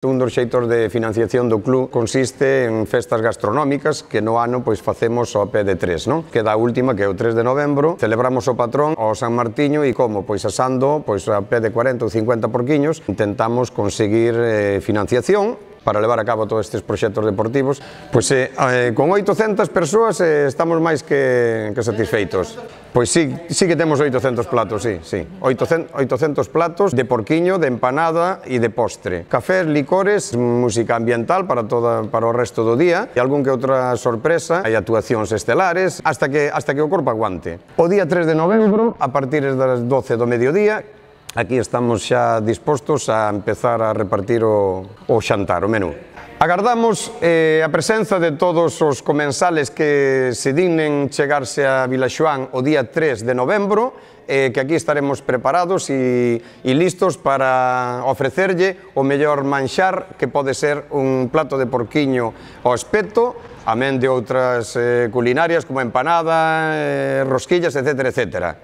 Un dos xeitos de financiación do club consiste en festas gastronómicas que no ano pois facemos ao pé de tres, non? Queda a última, que é o 3 de novembro, celebramos o patrón ao San Martiño e como? Pois asando pois a pé de 40 ou 50 porquiños, intentamos conseguir financiación para levar a cabo todos estes proxectos deportivos. Pois con 800 persoas estamos máis que satisfeitos. Pois sí que temos 800 platos, sí. 800 platos de porquiño, de empanada e de postre. Cafés, licores, música ambiental para o resto do día e algún que outra sorpresa, hai actuacións estelares, hasta que o corpo aguante. O día 3 de novembro, a partir das 12 do mediodía, aquí estamos xa dispostos a empezar a repartir o xantar, o menú. Agardamos a presenza de todos os comensales que se dignen chegarse a Vilaxoán o día 3 de novembro, que aquí estaremos preparados e listos para ofrecerlle o mellor manxar, que pode ser un plato de porquiño ao espeto, amén de outras culinarias como empanada, rosquillas, etc.